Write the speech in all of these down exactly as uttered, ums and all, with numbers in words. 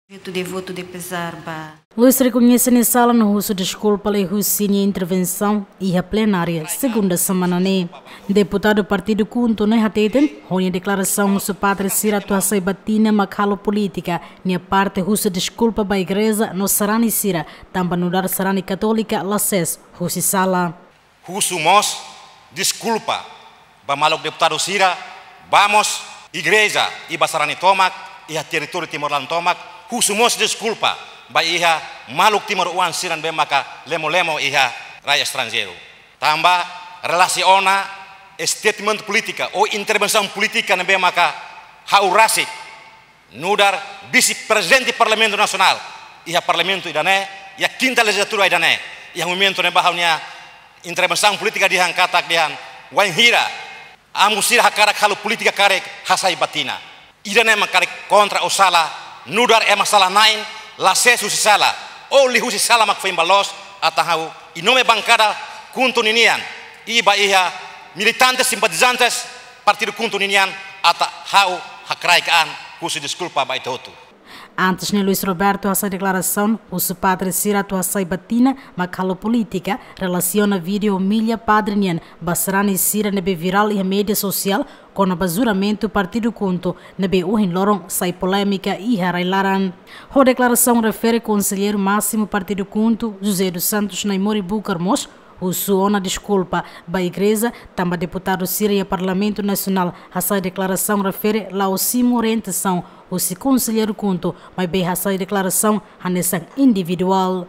Feto devotu de pezar ba. Luis rekoñese nia sala no husu deskulpa liuhusi nia intervensaun iha plenária segunda semana ne'e. Deputadu partidu KHUNTO ne'e hateten, ho nia deklarasaun husu padre sira atu hasai batina mak halo polítika, nia parte husu deskulpa ba igreja no sarani sira, tanba nu'udar sarani katólika la sees husi sala. Husu mós deskulpa ba maluk deputadu sira, ba mós igreja i ba sarani tomak, iha territóriu Timor-Leste tomak, husu mós deskulpa ba iha maluk timoroan sira ne'ebé maka lemo-lemo iha rai estranjeiru. Tanba relasiona statement polítika ou intervensaun polítika ne'ebé maka ha'u rasik nu'udar vise-prezidente Parlamentu Nasionál iha Parlamentu ida-ne'e, iha kinta lejizlatura ida-ne'e, iha momentu ne'ebá ha'u-nia intervensaun polítika dehan katak dehan, wainhira amu sira hakarak halo polítika karik hasai batina. Ida-ne'e mak karik kontra ou sala, nu'udar ema sala-na'in, la sees husi sala, ou liuhusi sala mak foin ba loos, atan ha'u em nome bankada KHUNTO ninian, i ba iha militantes, simpatizantes partidu KHUNTO ninian, atan ha'u hakraik an husu deskulpa ba ita hotu. Antes ne'e Luis Roberto hasai deklarasaun husu padre sira atu hasai batina mak halo polítika, relasiona vídeo homília padre nian ba sarani sira ne'ebé virál iha média sosiál kona-ba juramentu partidu KHUNTO ne'ebé ohin loron sai polémika iha rai-laran. Ho deklarasaun refere konselleiru másimu partidu KHUNTO, José dos Santos Naimori Bucar mós husu ona deskulpa ba igreja, tanba deputadu sira iha Parlamentu Nasionál hasai deklarasaun refere la'ós simu orientasaun husi konselleiru KHUNTO, maibé hasai deklarasaun hanesan individuál.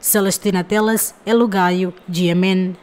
Celestina Teles, Elo Gaio, G M N.